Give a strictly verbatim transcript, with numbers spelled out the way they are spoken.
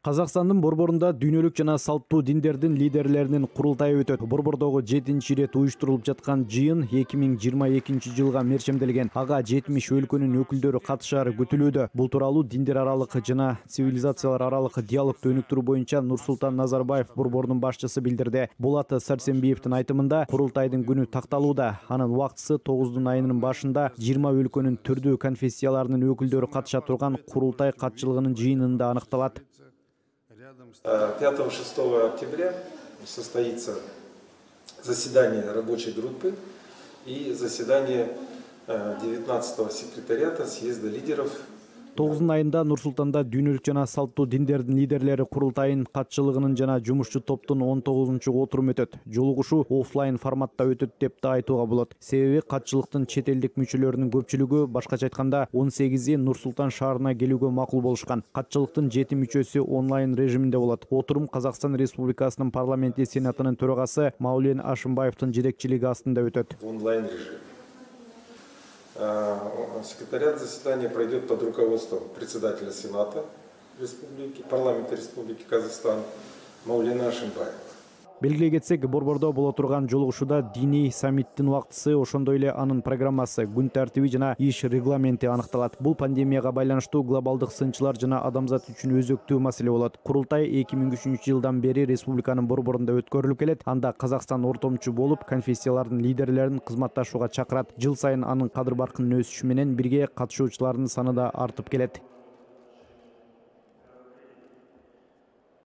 Казакстандын Борборунда дүйнөлүк жана салттуу диндердин лидерлеринин курултайы өтөт. Борбордогу жетинчи ирет уюштурулуп жаткан жыйын эки миң жыйырма экинчи жылга мерчемделген. Ага жетимиш өлкөнүн өкүлдөрү катышаары күтүлүүдө. Бул тууралуу диндер аралык жана цивилизациялар аралык диалогду өнүктүрүү боюнча Нурсултан Назарбаев борбордун башчысы билдирди. Булат Сарсембиевдин айтымында курултайдын күнү такталууда. Анын убактысы тогуздун айынын башында жыйырма өлкөнүн түрдүү конфессияларынын өкүлдөрү катыша турган курултай катчылыгынын жыйынында аныкталат. пятого-шестого октября состоится заседание рабочей группы и заседание девятнадцатого секретариата съезда лидеров. тогуздун айында Нурсултанда дүйнөлүк жана салттуу диндердин лидерлери курултайын катчылыгынын жана жумушчу топтун он тогузунчу отуруму өтөт. Жолугушуу оффлайн форматта өтөт деп да айтууга болот. Себеби катчылыктын чет элдик мүчөлөрүнүн көпчүлүгү, башкача айтканда он сегизи Нурсултан шаарына келүүгө макул болушкан. Катчылыктын жети мүчөсү онлайн режиминде болот. Отурум Казакстан Республикасынын парламенти сенатынын төрагасы Маулен Ашимбаевдин жетекчилиги астында өтөт. Онлайн режим. Секретариат заседания пройдет под руководством председателя Сената Республики, парламента Республики Казахстан Маулена Ашимбаева. Белгилей кетсек, борбордо боло турган жолугушууда диний саммиттин убактысы, ошондой эле анын программасы, күн тартиби жана иш регламенти аныкталат. Бул пандемияга байланыштуу глобалдык сынчылар жана адамзат үчүн өзөктүү маселе болот. Курултай эки миң үчүнчү жылдан бери республиканын борборунда өткөрүлүп келет. Анда Казакстан ортомчу болуп, конфессиялардын лидерлерин кызматташууга чакырат. Жыл сайын анын кадыр баркынын өсүшү менен бирге катышуучулардын саны да артып келет.